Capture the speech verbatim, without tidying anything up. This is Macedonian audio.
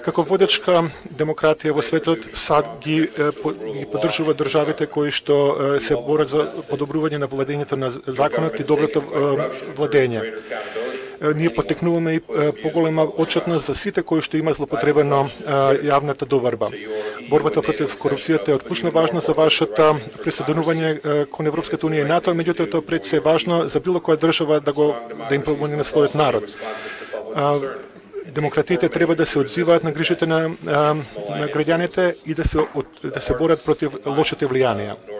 Како водечка демократија во светот, САД ги, ги поддржува државите кои што се борат за подобрување на владењето на законот и доброто владење. Ние потекнуваме и поголема отчетност за сите кои што има злопотребено јавната доварба. Борбата против корупцијата е од клучна важност за вашата присоединување кон Европската унија и НАТО, меѓутоа тоа пред се важно за било која држава да го да им помогне на својот народ. Демократиите треба да се одзиваат на грижите на, на граѓаните и да се да се борат против лошите влијанија.